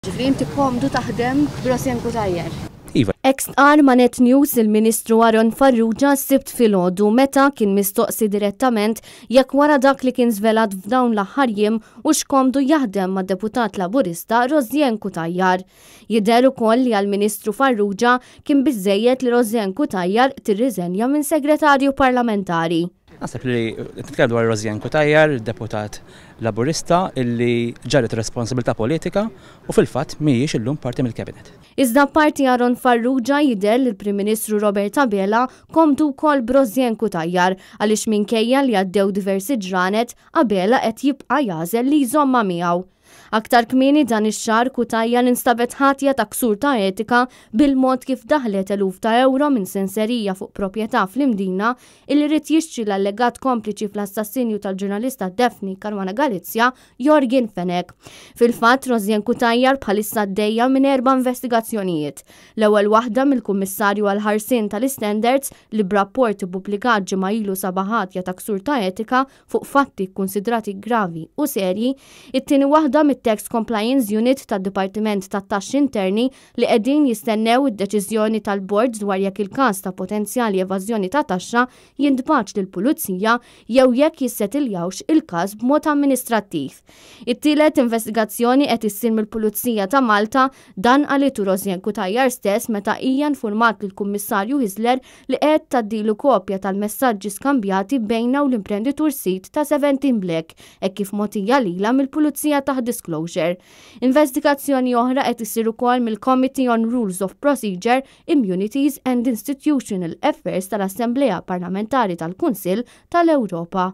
Ġifieri inti komdu taħdem b'Rosianne Cutajar? Iva. Hekk stqarr ma' Net News il-Ministru Aaron Farrugia s-Sibt filgħodu meta kien mistoqsi direttament jekk wara dak li kien żvelat f'dawn l-aħħar jiem hux komdu jaħdem mad-Deputat Laburista Rosianne Cutajar. Jidher ukoll li għall-Ministru Farrugia kien biżżejjed li Rosianne Cutajar tirriżenja minn Segretarju Parlamentari. Naħseb li qed nitkellem dwar Rosianne Cutajar, deputat Laburista illi ġarret responsabilità politika u fil-fatt mhijiex illum parti mill-Cabinet. Iżda apparti Aaron Farrugia jidher li l-Prim Ministru Robert Abela komdu wkoll b'Rosianne Cutajar għaliex minkejja li għaddew diversi ġranet, Abela qed jibqa' jagħżel li jżommha miegħu. Aktar kmieni dan ix-xahar Cutajar instabet ħatja ta' ksur ta' etika bil-mod kif daħlet eluf ta' ewro minn senserija fuq proprjetà fl-Imdina illi ried jixtri l-allegat kompliċi fl-assassinju tal-ġurnalista Daphne Caruana Galizia, Yorgen Fenech. Fil-fatt, Rosianne Cutajar bħalissa għaddejja minn erba' investigazzjonijiet. L-ewwel waħda mill-Kummissarju għall-Ħarsien tal-Istandards li b'rapport ippubblikat ġimgħa ilu sabha ħatja ta' ksur ta' etika fuq fatti kkunsidrati gravi u serji, it-tieni waħda mit-Tax Compliance Unit tad-Dipartiment tat-Taxxi Interni li qegħdin jistennew id-deċiżjoni tal-Bord dwar jekk il-każ ta' potenzjali evażjoni ta' taxxa jintbagħatx lill-Pulizija jew jekk jissetiljawx il-każ b'mod amministrattiv. It-tielet investigazzjoni qed issir mill-Pulizija ta' Malta, dan qalitu Rosianne Cutajar stess meta hija nfurmat lill-Kummissarju Hyzler li qed tgħaddilu kopja tal-messaġġi skambjati bejnha u l-imprenditur sid ta' Seventeen Black hekk kif mogħtija lilha mill-Pulizija taħt disclosure. Investigazzjoni oħra qed issir ukoll mill-Committee on Rules of Procedure, Immunities and Institutional Affairs tal-Assemblea Parlamentari tal-Kunsill tal-Ewropa.